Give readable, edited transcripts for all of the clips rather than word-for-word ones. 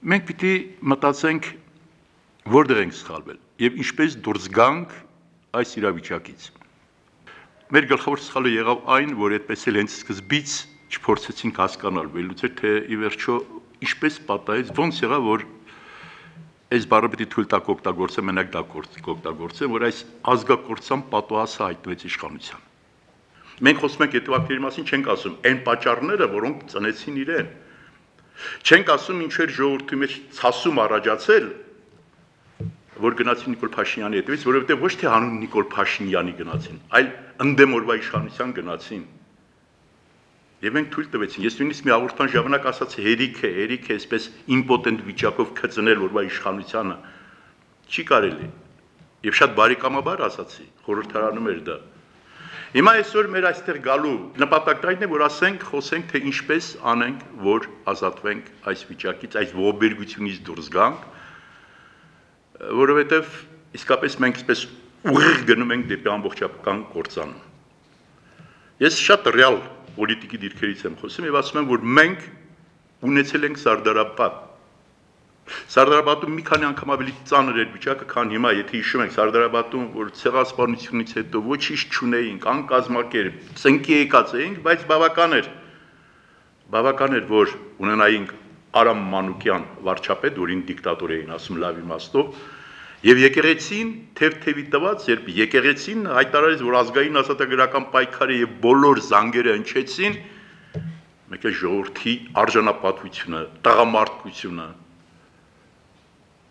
Մենք պիտի մտածենք, որտեղ ենք սխալվել եւ ինչպես դուրս գանք այս իրավիճակից։ Մեր գլխավոր սխալը եղավ այն, որ այդպես էլ հենց սկզբից չփորձեցինք հասկանալ, վերլուծել, թե ի վերջո ինչպես պատահեց, ոնց եղավ, որ այս բառը պիտի թույլ տակ օգտագործեմ, մենակ դա օգտագործեմ, որ այս ազգակործան պատուհասը հայտնվեց իշխանության։ Մենք խոսում ենք հետևակների մասին, չենք ասում այն պատճառները, որոնք ծնեցին իրեն։ Չենք ասում ինչ էր ժողովրդի մեջ ցասում առաջացել, որ գնացին Նիկոլ Փաշինյանի հետևից, որովհետև ոչ թե հանուն Նիկոլ Փաշինյանի գնացին, այլ ընդդեմ օրվա իշխանության գնացին։ Եվ մենք թույլ տվեցին, ես նույնիսկ մի հաղորդման ժամանակ ասացի, հերիք է, այսպես իմպոտենտ վիճակով քծնել օրվա իշխանությանը, չի կարելի։ Եվ շատ բարեկամաբար ասացի, խորհրդարանում էր դա։ Հիմա այսօր մեր այստեղ գալու նպատակն այն է, որ ասենք, խոսենք, թե ինչպես անենք, որ ազատվենք այս վիճակից, այս ողբերգությունից դուրս գանք, որովհետև իսկապես մենք այսպես ուղիղ գնում ենք դեպի ամբողջական կործանում։ Ես շատ ռեալ պոլիտիկի դիրքերից եմ խոսում եւ ասում եմ, որ մենք ունեցել ենք Սարդարապատ։ Սարդարապատում մի քանի անգամ ավելի ծանր էր վիճակը, քան հիմա, եթե հիշում եք, Սարդարապատում, որ ցեղասպանությունից հետո ոչինչ չունեինք, անկազմակերպ, ծնկի եկած էինք, բայց բավական էր, որ ունենայինք Արամ Մանուկյան վարչապետ, որին դիկտատոր էին ասում լավ իմաստով, եւ եկեղեցին թեթևի տված, երբ եկեղեցին հայտարարեց, որ ազգային ազատագրական պայքարը եւ բոլոր զանգերը հնչեցին, մեկ է ժողովրդի արժանապատվությունը, տղամարդկությունը,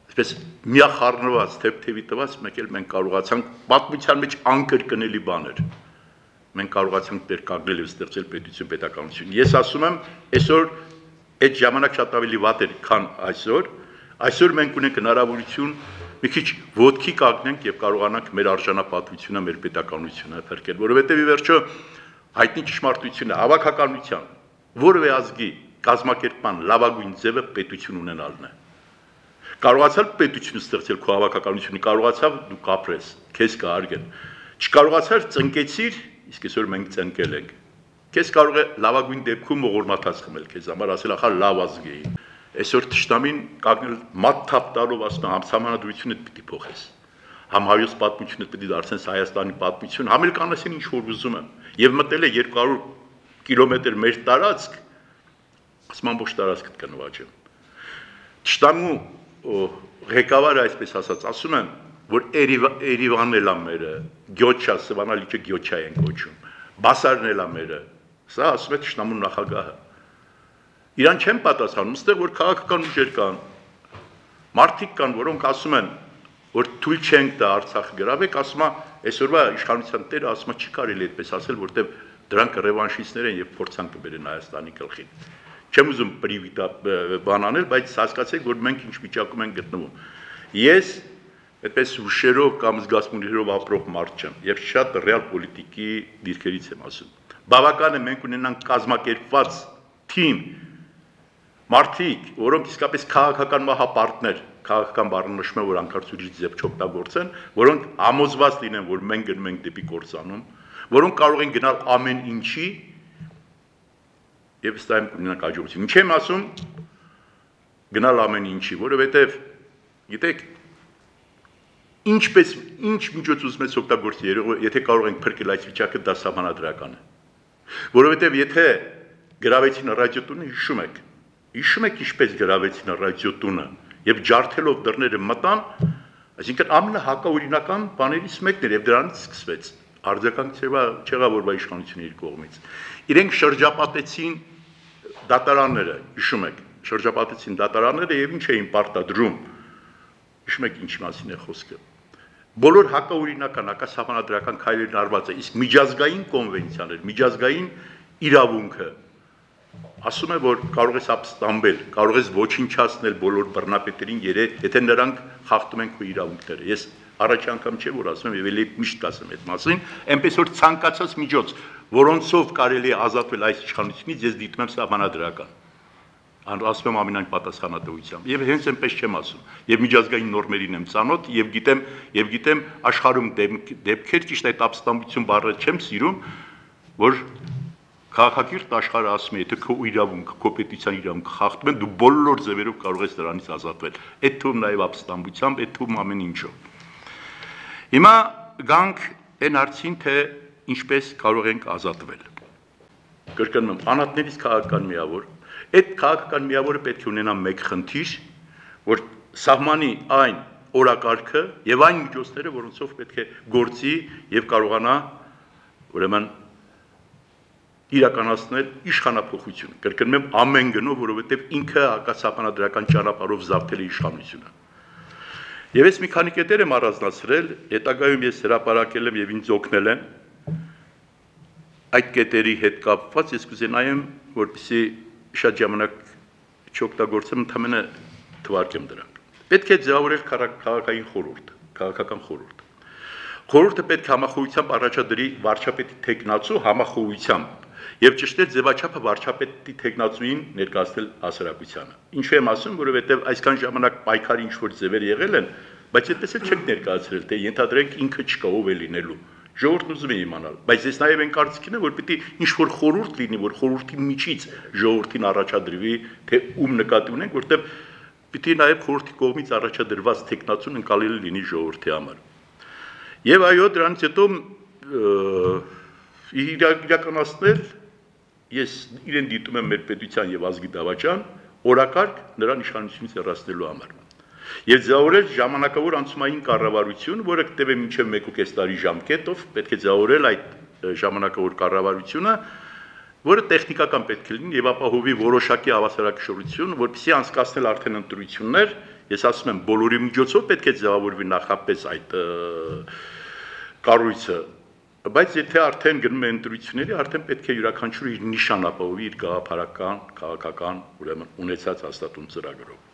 այսպես միախառնված թեթևի տված, մեկ էլ մենք կարողացանք պատմության մեջ անկրկնելի բաներ։ Մենք կարողացանք դեր կանգնել եւ ստեղծել պետություն, պետականություն։ Ես ասում եմ, այսօր այդ ժամանակ շատ ավելի վատ էր, քան այսօր։ Այսօր մենք ունենք հնարավորություն մի քիչ ոտքի կանգնենք եւ կարողանանք մեր արժանապատվությունը, մեր պետականությունը փրկել, որովհետեւ ի վերջո հայտնի ճշմարտությունը, հավաքականության, որևէ ազգի կազմակերպման լավագույն ձևը պետություն ունենալն է։ Կարողացալ պետություն ստեղծել քո հավաքականությունը, կարողացավ դու կապրես, քեզ կհարգեն։ Չկարողացար ծնկեցիր, իսկ այսօր մենք ծնկել ենք։ Քեզ կարող է լավագույն դեպքում ողորմաթած խմել քեզ համար, ասել ախա լավ ազգ էի։ Այսօր թշնամին կանգնել մաթթափ տալով ասում համանadrությունը պիտի փոխես։ Համ հայոց պատմությունը պիտի դարձնես Հայաստանի պատմություն, համ էլ կանեսին ինչ որ ուզում եմ։ Եվ մտել է 200 կիլոմետր մեր տարածք, ասում ամբողջ տարածքը կնվաճեմ։ Թշնամու ղեկավարը այսպես ասած, ասում եմ, որ Երևանն էլ է մերը, Գյոչա, Սվանալիչը Գյոչա են կոչում, Բասարն էլ է մերը, սա ասում է թշնամու նախագահը։ Իրան չեն պատասխանում, այստեղ որ քաղաքական ուժեր կան, մարդիկ կան, որոնք ասում են, որ թույլ չենք տա Արցախը գրավեք, ասում է, այսօրվա իշխանության տերը ասում է, չի կարելի այդպես ասել, որտեղ դրանք ռևանշիստներ են եւ փորձան կբերեն Հայաստանի գլխին։ Չեմ ուզում բան անել, բայց հասկացեք, որ մենք ինչ վիճակում ենք գտնվում։ Ես այդպես հուշերով կամ զգացմունքներով ապրող մարդ չեմ եւ շատ ռեալ պոլիտիկի դիրքերից եմ ասում։ Բավական է մենք ունենանք կազմակերպված թիմ մարդիկ, որոնք իսկապես քաղաքական մահապարտներ, քաղաքական բառը նշում է, որ անկարծուրից ձև չօգտագործեն, որոնք համոզված լինեն, որ մենք գնում ենք դեպի կործանում, որոնք կարող են գնալ ամեն ինչի եւ ստայմ կունենանք աջակցություն։ Ինչ եմ ասում, գնալ ամեն ինչի, որովհետեւ գիտեք, ինչ միջոց ուզում ես օգտագործել, եթե կարող ենք փրկել այս վիճակը, դա սահմանադրական է։ Որովհետեւ եթե գրավեցին ռադիոտունը, հիշում եք ինչպես գրավեցին ռադիոտունը եւ ջարդելով դռները մտան, այսինքն ամենահակաօրինական բաներից մեկն էր եւ դրանից սկսվեց արձագանք չեղավորվա իշխանությունների կողմից։ Իրենք շրջապատեցին դատարանները, հիշում եք, շրջապատեցին դատարանները եւ ինչ էին պարտադրում։ Հիշում եք ինչ մասին է խոսքը։ Բոլոր հակաօրինական, հակասահմանադրական քայլերն արված է, իսկ միջազգային կոնվենցիաներ, միջազգային իրավունքը ասում է, որ կարող ես ապստամբել, կարող ես ոչնչացնել բոլոր բռնապետերին, եթե նրանք խախտում են քո իրավունքները։ Ես առաջ անգամ չէ, որ ասում եմ եւ ելի միշտ կասեմ այդ մասին, այնպես որ ցանկացած միջոց, որոնցով կարելի է ազատվել այս իշխանությունից, ես դիտում եմ սահմանադրական։ Ասում եմ ամենայն պատասխանատվությամբ եւ հենց այնպես չեմ ասում եւ միջազգային նորմերին եմ ծանոթ եւ գիտեմ աշխարհում դեպքեր ճիշտ այդ ապստամբություն բառը չեմ սիրում, որ Քաղաքակիրթ աշխարհը ասում է, եթե քո իրավունքը, քո պետության իրավունքը խախտում են, դու բոլոր ձևերով կարող ես դրանից ազատվել։ Այդ թվում նաև ապստամբությամբ, այդ թվում ամեն ինչով։ Հիմա գանք այն հարցին, թե ինչպես կարող ենք ազատվել։ Կրկնում եմ, անհատներից քաղաքական միավոր, այդ քաղաքական միավորը պետք է ունենա մեկ խնդիր, որ սահմանի այն օրակարգը եւ այն միջոցները, որոնցով պետք է գործի եւ կարողանա ուրեմն իրականացնել իշխանափոխություն։ Կրկնում եմ, ամեն գնով, որովհետեւ ինքը հակասահմանադրական ճանապարհով զավթել է իշխանությունը։ Եվ ես մի քանի կետեր եմ առանձնացրել, հետագայում ես հրապարակել եմ եւ ինձ օգնել են այդ կետերի հետ կապված, ես կուզենայեմ, որպեսզի շատ ժամանակ չօգտագործեմ, ընդհանրապես թվարկեմ դրանք։ Պետք է ձևավորել քաղաքային խորհուրդ, քաղաքական խորհուրդ։ Խորհուրդը պետք է համախոհությամբ առաջադրի վարչապետի թեկնածու համախոհությամբ եւ ճշտել ձևաչափը վարչապետի թեկնածուին ներկայացնել հասարակությանը։ Ինչու եմ ասում, որովհետեւ այսքան ժամանակ պայքարի ինչ որ ձևեր եղել են, բայց այդպես էլ չեք ներկայացրել, թե ենթադրենք ինքը չկա, ով է լինելու։ Ժողովուրդն ուզում է իմանալ, բայց ես նաև այն կարծիքին եմ, որ պիտի ինչ-որ խորհուրդ լինի, որ խորհրդի միջից ժողովրդին առաջադրվի, թե ում նկատի ունենք, որտեղ պիտի նաև խորհրդի կողմից առաջադրված տեխնացուն ընկալելի լինի ժողովրդի համար։ Եվ այո, դրանից հետո իրականացնել ես իրեն դիտում եմ մեր պետության եւ ազգի դավաճան օրակարգ նրան իշխանությունից հեռացնելու համար։ Եվ ձևավորել ժամանակավոր անցումային կառավարություն, որը կտևի մինչև 1.5 տարի ժամկետով, պետք է ձևավորել այդ ժամանակավոր կառավարությունը, որը տեխնիկական պետք է լինի եւ ապահովի որոշակի հավասարակշռություն, որպեսզի անցկացնել արդեն ընտրություններ, ես ասում եմ, բոլորի միջոցով պետք է ձևավորվի նախապես այդ կառույցը, բայց եթե արդեն գնում է ընտրությունների, արդեն պետք է յուրաքանչյուրը իր նիշան ապահովի իր գաղափարական, քաղաքական, ուրեմն ունեցած հաստատուն ծրագրով։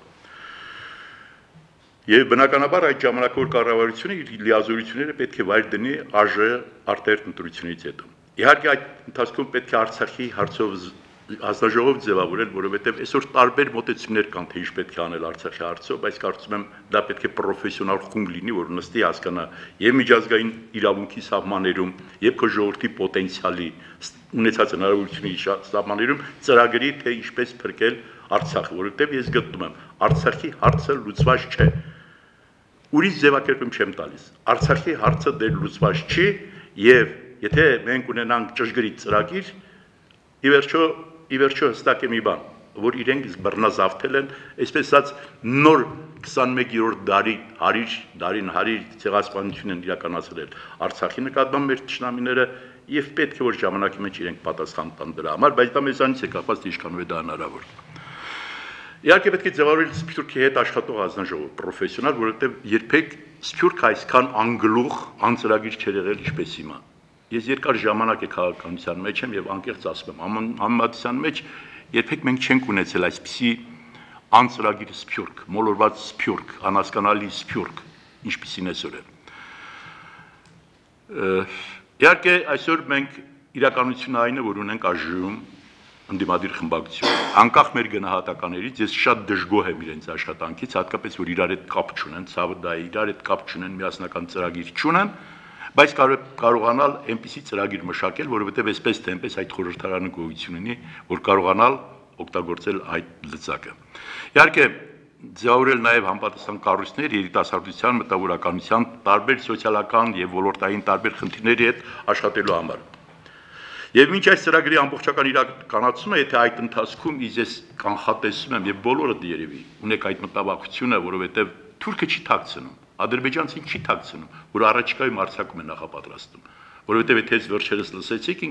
Եվ բնականաբար այդ ժամանակավոր կառավարությունը իր լիազորությունները պետք է վայր դնի ԱԺ արտերտ ընտրությունից հետո։ Իհարկե այդ ընթացքում պետք է Արցախի հարցով հանձնաժողով ձևավորել, որովհետև այսօր տարբեր մոտեցումներ կան, թե ինչ պետք է անել Արցախի հարցով, բայց կարծում եմ դա պետք է պրոֆեսիոնալ խումբ լինի, որ նստի հասկանա եւ միջազգային իրավունքի սահմաններում, եւ քո ժողովրդի պոտենցիալի ունեցած հնարավորությունների սահմաններում ծրագրի, թե ինչպես փրկել Արցախը, որովհետև ես գտնում եմ Արցախի հարցը լուծված չէ։ Ուրիշ ձևակերպում չեմ տալիս։ Արցախի հարցը դեռ լուծված չի եւ եթե մենք ունենանք ճշգրիտ ծրագիր, ի վերջո հստակ է մի բան, որ իրենք բռնազավթել են, այսպես ասած նոր 21-րդ դարին հարիր ցեղասպանություն են իրականացրել Արցախի նկատմամբ մեր ճշնամիները եւ պետք է որ ժամանակի մեջ իրենք պատասխան տան դրա համար, բայց դա մեզանից է կապված, թե ինչքանով է դա հնարավոր։ Իհարկե պետք է ձևավորել Սփյուռքի հետ աշխատող հանձնաժողով, պրոֆեսիոնալ, որովհետև երբեք Սփյուռքը այսքան անգլուխ, անծրագիր չէր եղել, ինչպես հիմա։ Ես երկար ժամանակ է քաղաքականության մեջ եմ եւ անկեղծ ասում եմ, համեմատության մեջ երբեք մենք չենք ունեցել այսպիսի անծրագիր Սփյուռք, մոլորված Սփյուռք, անհասկանալի Սփյուռք, ինչպիսին այսօր է։ Իհարկե այսօր մենք իրականությունը այն է, որ ունենք ԱԺ-ում ընդդիմադիր խմբակցություն։ Անկախ մեր գնահատականներից ես շատ դժգոհ եմ իրենց աշխատանքից, հատկապես որ իրար հետ կապ չունեն, ցավը դա է, իրար հետ կապ չունեն, միասնական ծրագիր չունեն, բայց կարողանալ այնպիսի ծրագիր մշակել, որովհետև այսպես թե այնպես այդ խորհրդարանը գոյություն ունի, որ կարողանալ օգտագործել այդ լծակը։ Իհարկե ձևավորել նաև համապատասխան կառույցներ երիտասարդության, մտավորականության, տարբեր սոցիալական եւ ոլորտային տարբեր խնդիրների հետ աշխատելու համար։ Եվ մինչ այս ծրագրի ամբողջական իրականացումը, եթե այդ ընթացքում ես կանխատեսում եմ եւ բոլորը երևի ունեք այդ մտավախությունը, որովհետեւ թուրքը չի թաքցնում, ադրբեջանցին չի թաքցնում, որ առաջիկայում արձակում է նախապատրաստում, որովհետեւ եթե այս վերջերս լսեցիք,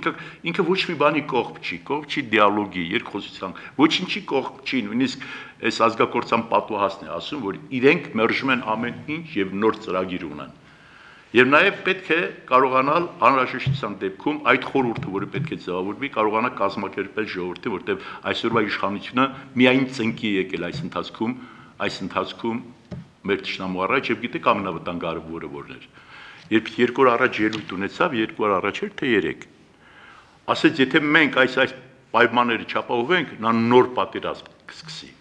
ինքը ոչ մի բանի կողմ չի դիալոգի, երկխոսության, ոչինչի կողմ չի, նույնիսկ այս ազգակործան պատուհասն է ասում, որ իրենք մերժում են ամեն ինչ եւ նոր ծրագիր ունեն։ Եվ նաև պետք է կարողանալ անհրաժեշտության դեպքում այդ խորհուրդը, որը պետք է ձևավորվի, կարողանա կազմակերպել ժողովրդին, որտեղ այսօրվա իշխանությունը միայն ծնկի է եկել այս ընթացքում մեր ճշնամու առաջ եւ գիտեք ամենավտանգավորը որն էր։ Երբ 2 օր առաջ ելույթ ունեցավ, 2 օր առաջ էր թե 3։ Ասեց, եթե մենք այս պայմանները չապահովենք, նա նոր պատերազմ կսկսի։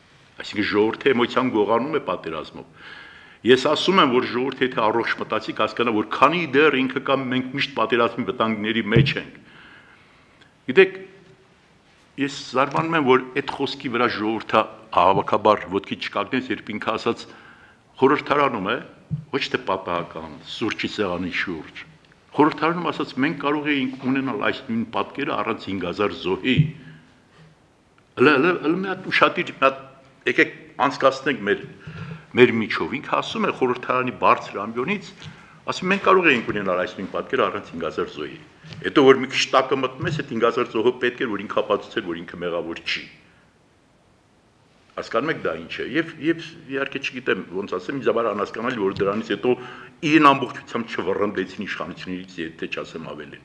Այսինքն ժողովրդի էմոցիան գողանում է պատերազմով։ Ես ասում եմ, որ ժողովուրդը եթե առողջ մտածի, կհասկանա, որ քանի դեռ ինքը կամ մենք միշտ պատերազմի վտանգների մեջ ենք։ Գիտեք, Ես զարմանում եմ, որ այդ խոսքի վրա ժողովուրդը հավաքաբար ոտքի չկանգնեց, երբ ինքը ասաց խորհրդարանում է, ոչ թե պատահական սուրճի սեղանի շուրջ։ Խորհրդարանում ասաց մենք կարող էինք ունենալ այս նույն պատկերը առանց 5000 զոհի։ Հələ մի հատ ուշադիր, մի հատ եկեք անցկացնենք մեր միջով։ Ինքը ասում է խորհրդարանի բարձր ամբիոնից, ասում մենք կարող էինք ունենալ այս նույն պատկերը առանց 5000 զոհի։ Հետո որ մի քիչ տակը մտնում ես, այդ 5000 զոհը պետք է որ ինքը ապացուցեր, որ ինքը մեղավոր չի։ Հասկանում եք դա ինչ է։ Եվ իհարկե չգիտեմ ոնց ասեմ, ինձ համար անհասկանալի որ դրանից հետո իրեն ամբողջությամբ չվռնդեցին իշխանություններից, եթե չասեմ ավելին։